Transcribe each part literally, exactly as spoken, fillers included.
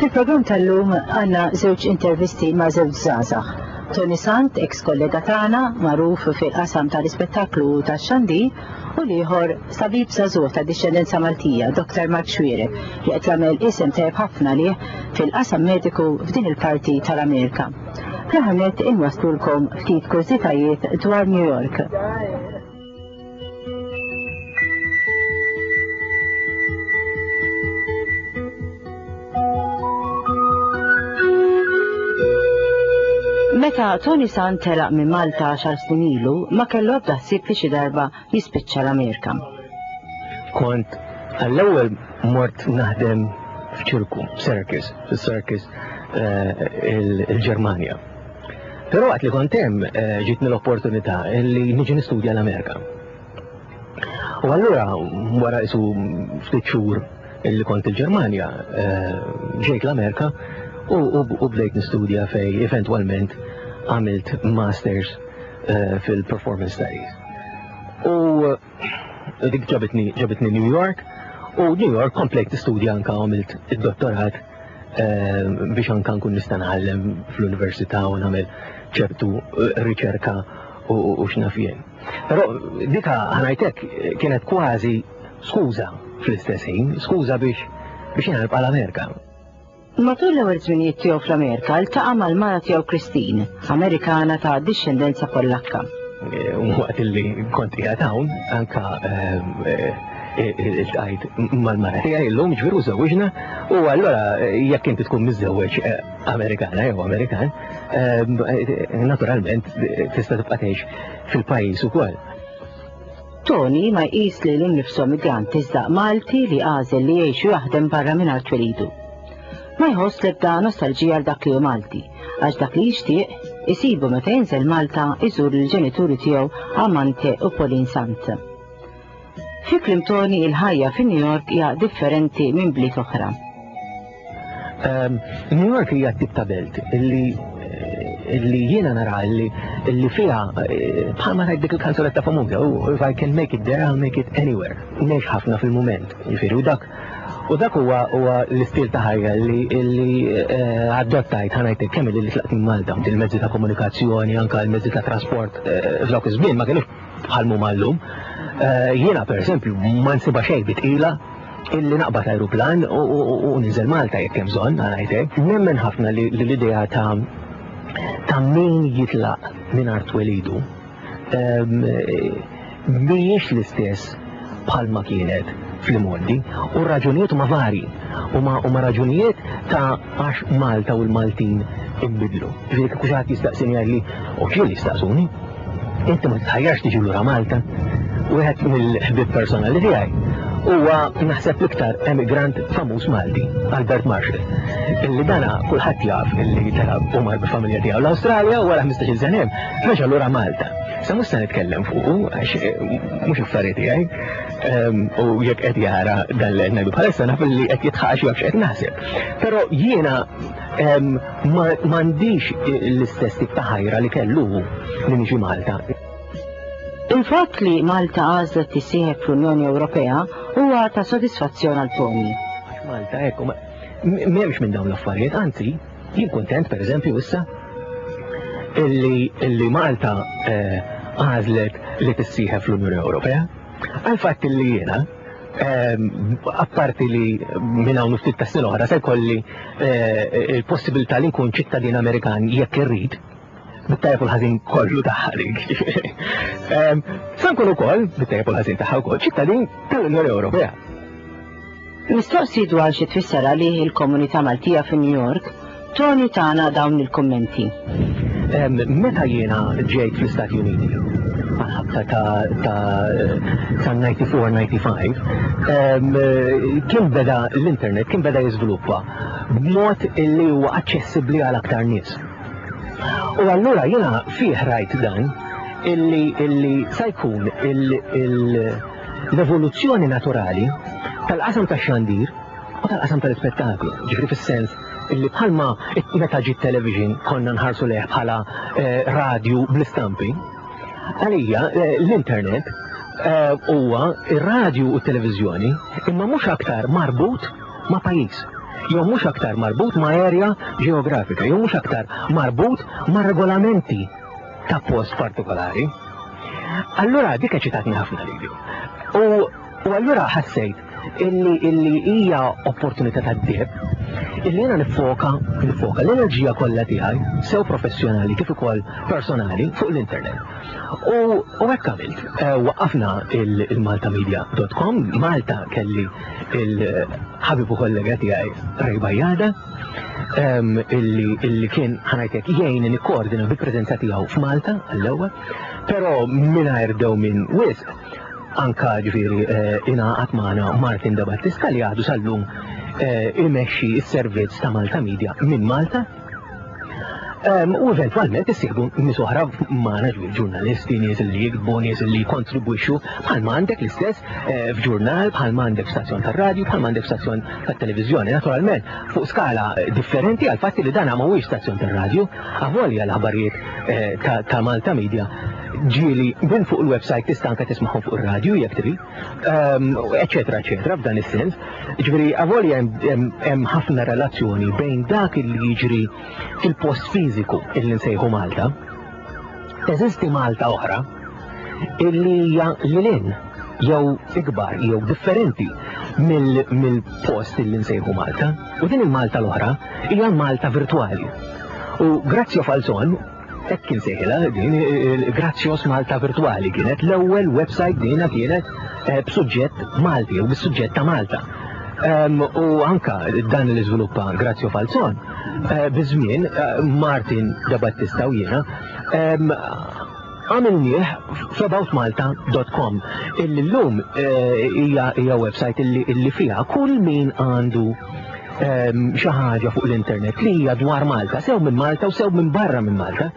Fil-programm tal-lum għandna żewġ intervisti ma' żewġ żgħażagħ. Toni Sant, ex kollega tagħna, magħruf fil-qasam tal-ispettaklu tax-xandir, u l-ieħor tabib żagħżugħ ta' dixxendenza Maltija, Doktor Mark Xuereb, li qed jagħmel isem tajjeb ħafna lih fil-qasam mediku f'din il-parti tal-Amerika. Fl-aħħar nett inwaslulkom ftit kurżitajiet dwar New York. Meta Toni Sant telaq minn Malta għaxar snin ilu, ma kellu ebda ħsieb li xi darba jispiċċa l-Amerika. Kont għall-ewwel mort naħdem f'ċirku, circus, fis-circus il-Ġermanja. Però waqt li kont hemm ġitni l-opportunità li niġi nistudja l-Amerika. U allura wara isu ftit xhur illi kont il-Ġermanja, ġejt l-Amerika u bdejt nistudja fej eventwalment għamilt masters fil-performance studies. U dik ġabitni ġabitni New York, u New York komplejt nistudja anka għamilt id-dottorat biex anka nkun nista' nħallem fl-università u nagħmel ċertu riċerka u x'naf jien. Però dika ħanajtek kienet kważi skuża fl-istess ħin, skuża biex biex jiena nibqa' l-Amerika. Matul l-ewwel żminijiet tiegħu fl-Amerika ltaqa' mal-mara tiegħu Christine, Amerikana ta' dixxendenza Pollakka. Waqt li kont qiegħed hawn anka iltqajt mal-mara tiegħi llum, ġifieri żewġna, u allura jekk inti tkun miżżewweġ Amerikana jew Amerikan, naturalment tista' tibqa' tgħix fil-pajjiż ukoll. Toni ma jqis lilu nnifsu migrant iżda Malti li għażel li jgħix u jaħdem barra minn art twelidu. Ma jħoss l-ebda nostalġija għal dak li hu Malti, għax dak li jixtieq isibu meta jinżel Malta iżur il-ġenituri tiegħu Amante u Pauline Sant. Fi kliem Toni il-ħajja fi New York hija differenti minn bliet oħra. New York hija tip ta' belt illi illi jiena nara illi illi fiha bħalma rajt dik il-kanzunetta famuża, oh, if I can make it there, I'll make it anywhere. Ngħix ħafna fil-mument, jiġifieri, u dak u dak huwa huwa l-istil ta' ħajja li illi adottajt ħanajtek kemm li tlaqt minn Malta, il-mezzi ta' komunikazzjoni, anka l-mezzi ta' trasport f'dawk iż-żmien ma kienux bħal huma llum. Jiena pereżempju ma nsibha xejn bitqila illi naqbad aeroplan u ninżel Malta jekk hemm bżonn, ngħidlek. Nemmen ħafna li l-idea ta' ta' min jitlaq minn art twelidu mhijiex l-istess bħalma kienet fl-imgħoddi, u r-raġunijiet huma vari, huma raġunijiet ta' għax Malta u l-Maltin inbidlu. Ġifieri kieku xi ħadd jistaqsini jgħidli, u ġieli jistaqsuni, inti ma titħajjarx tiġi lura Malta? Wieħed mill-ħbieb personali tiegħi huwa naħseb l-iktar emigrant famuż Malti, Albert Marshall, illi dana kulħadd jaf illi telaq u mar bil-familja tiegħu l-Awstralja u wara ħmistax-il sena hemm reġa' lura Malta. Sa mhux se nitkellem fuqu għax mhux affarijiet tiegħi, u jekk qed jara dan li qed ngħidu bħalissa naf li qed jitħaqax jaf x'qed naħseb. Però jiena m'għandix l-istess tip ta' ħajra li kellu li niġi Malta. Il-fatt li Malta għażlet tissieħeb fl-Unjoni Ewropea huwa ta' sodisfazzjon għal Toni. Għax Malta hekk m'hemmx minn dawn l-affarijiet, anzi, jien kuntent pereżempju issa illi, illi Malta għażlet li tissieħeb fl-Unjoni Ewropea. Għal fatt li jiena apparti li minn hawn ftit ta' snin oħra se jkolli il-possibilità li nkun ċittadin Amerikan jekk irrid, bit-tajjeb u l-ħażin kollu tagħha dik. Sa nkun ukoll, bit-tajjeb u l-ħażin tagħha wkoll, ċittadin tal-Unjoni Ewropea. Mistoqsi dwar xi tfisser għalih il-komunità Maltija fi New York, Toni tana dawn il-kummenti. Meta jiena ġejt fl-Istati Uniti, għal-ħabta ta' ta' ninety-four ninety-five, kien beda l-internet, kien beda jiżviluppa b'mod illi huwa aċċessibbli għal aktar nies. U allura jiena fih rajt dan illi, illi sa jkun l-evoluzzjoni naturali tal-qasam tax-xandir u tal-qasam tal-ispettaklu, ġifieri fis-sens illi bħalma meta ġiet television konna nħarsu leh bħala radju bl-istampi, għalija l-internet huwa ir-radju u t-televiżjoni imma mhux aktar marbut ma' pajjiż. Jew mhux aktar marbut ma' area ġeografika, jew mhux aktar marbut ma' regolamenti ta' post partikolari. Allura dik eċitatni ħafna lili. U, u allura ħassejt illi illi hija opportunità tad-deheb illi jiena nifoka nifoka l-enerġija kollha tiegħi, sew professjonali kif ukoll personali, fuq l-internet. U u hekk għamilt. Eh, Waqqafna il-maltamedia punt com. Malta kelli il-ħabib u kollega tiegħi Ray Bajada, em, illi illi kien, ħa ngħidlek, jgħin nikkoordina bil-preżenza tiegħu f'Malta għall-ewwel, però mingħajr dewmien wisq anka ġifieri eh, ingħaqad magħna Martin Da Battista, li għadu sal-lum eh, imexxi s-servizz ta' Malta Media minn Malta. Um, u eventualment issieħbu nies oħra magħna, ġifieri ġurnalisti, nies li jiktbu, nies li kontribwixxu, bħalma għandek l-istess eh, f'ġurnal, bħalma għandek stazzjon tar-radju, bħalma għandek stazzjon tat-televiżjoni. Naturalment, fuq skala differenti, għal fatti li dan mhuwiex stazzjon tar-radju, avolja l-aħbarijiet eh, ta', ta' Malta Media ġieli minn fuq il-website tista' anke tismagħhom fuq ir-radju jekk trid, um, eċetera, eċetera, f'dan is-sens. Ġifieri avolja hemm hemm ħafna relazzjoni bejn dak li jiġri fil-post fiżiku illi nsejħu Malta, teżisti Malta oħra illi hija lil hinn jew ikbar jew differenti mill-post illi nsejħu Malta. U din il-Malta l-oħra hija Malta virtuali. U Grazio Falzon, hekk kien sejħilha din, Grazio's Malta Virtuali, kienet l-ewwel website dina kienet eh, b'suġġett Malti u bis-suġġett ta' Malta. Um, u anka dan li żviluppa Grazio Falzon, uh, biż-żmien uh, Martin Da Battista u jiena um, għamilnieh f'aboutmalta punt com, illi llum hija hija website illi, illi fiha kull min għandu um, xi ħaġa fuq l-internet li hija dwar Malta, sew minn Malta u sew minn barra minn Malta,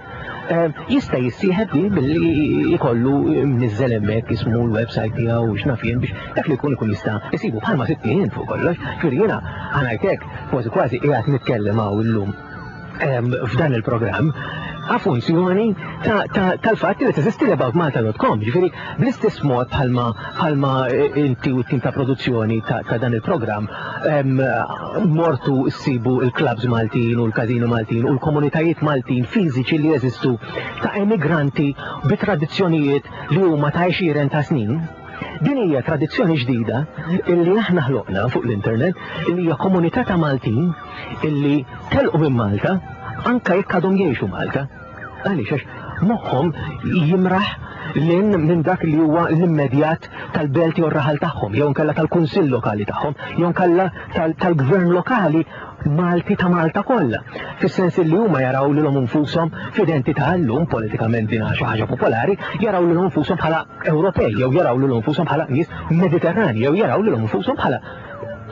um, jista' jissieħeb li billi jkollu mniżżel hemmhekk ismu, l-website tiegħu u x'naf jien, biex dak li jkun ikun jista' jsibu, bħalma sibt fuq kollox. Ġifieri jiena, ħa ngħidlek, kważi kważi qiegħed nitkellem hawn illum em, f'dan il-programm a funzjoni tal-fatt li teżisti l-aboutmalta punt com. Ġifieri bl-istess mod bħalma bħalma inti u t-tim ta' produzzjoni ta', ta dan il-programm em, mortu ssibu il-clubs Maltin u l-kazino Maltin u l-komunitajiet Maltin fiżiċi li jeżistu ta' emigranti bi tradizzjonijiet li huma ta' għexieren ta' snin. Din hija tradizzjoni ġdida illi aħna ħloqna fuq l-internet, illi hija komunità ta' Maltin illi telqu minn Malta anka jekk għadhom jgħixu Malta. Għaliex? Għax moħħhom jimraħ lil hinn minn dak li huwa l-immedjat tal-belt jew raħal tagħhom, jew nkella tal-kunsill lokali tagħhom, jew nkella tal-gvern lokali Malti ta' Malta kollha. Fis-sens li huma jaraw lilhom infushom f'identità, llum politikament din xi ħaġa popolari, jaraw lilhom infushom bħala Ewropej, jew jaraw lilhom infushom bħala nies Mediterrani, jew jaraw lilhom infushom bħala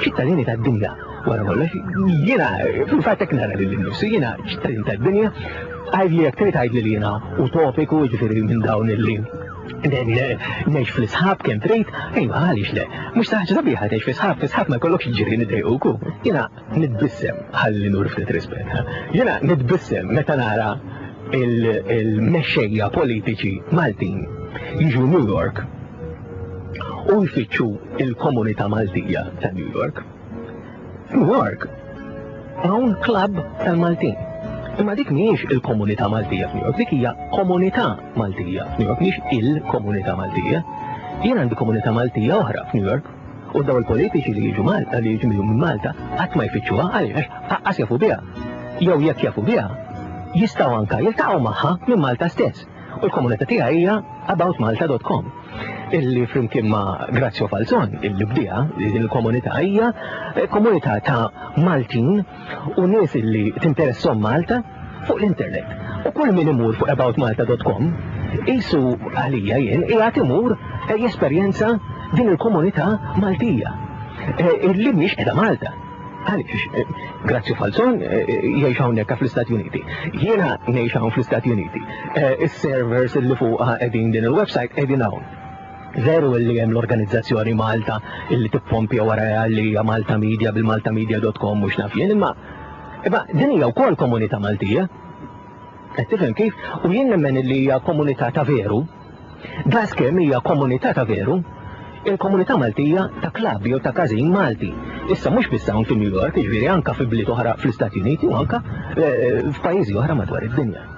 ċittadini tad-dinja. Wara kollox, jiena fil-fatt hekk nara lil nifsi, jiena ċittadin tad-dinja. Għidli jekk trid, għidli li jiena utopiku, ġifieri minn dawn illi ngħix fl-isħab kemm trid, ejwa, għaliex le? Mhux ħaġa sabiħa tgħix fl-isħab? Fl-isħab ma jkollokx ġirien idejquku. Jiena nitbissem, ħalli nur ftit rispett. Jiena nitbissem meta nara il-mexxejja politiċi Maltin jiġu New York u jfittxu il-komunità Maltija ta' New York. New York hawn club tal-Maltin. Imma dik mhijiex il-komunità Maltija f'New York, dik hija komunità Maltija f'New York, mhijiex il-komunità Maltija. Jien għandi komunità Maltija oħra f'New York. U daw il-politiċi li jiġu Malta, li jiġu minn Malta, qatt ma jfittxuha, għaliex qas jafu biha. Jew jekk jafu biha, jistgħu anka jiltaqgħu magħha minn Malta stess. U l-komunità tiegħi hija aboutmalta punt com, illi flimkien ma' Grazio Falzon, illi bdieha din il-komunità, hija komunità ta' Maltin u nies illi tinteressom Malta fuq l-internet. U kull min imur fuq aboutmalta punt com qisu għalija jien qiegħed imur jesperjenza din il-komunità Maltija illi mhix qiegħda Malta. Għaliex? Grazio Falzon jgħix hawnhekk fl-Istati Uniti. Jiena ngħix hawn fl-Istati Uniti. Is-servers illi fuqha qegħdin din il-website qegħdin hawn. Veru illi hemm l-organizzazzjoni Malta illi tippompja wara li hija Malta Media bil-maltamedia punt com mhux naf jien, imma imma din hija wkoll komunità Maltija. Qed tifhem kif? U jien nemmen li hija komunità ta' veru. Daskemm hija komunità ta' veru Il-komunità Maltija ta' klabb jew ta' każin Malti. Issa mhux biss hawn fi New York, jiġifieri anka fi bliet oħra fl-Istati Uniti u anka eh, f'pajjiżi oħra madwar id-dinja.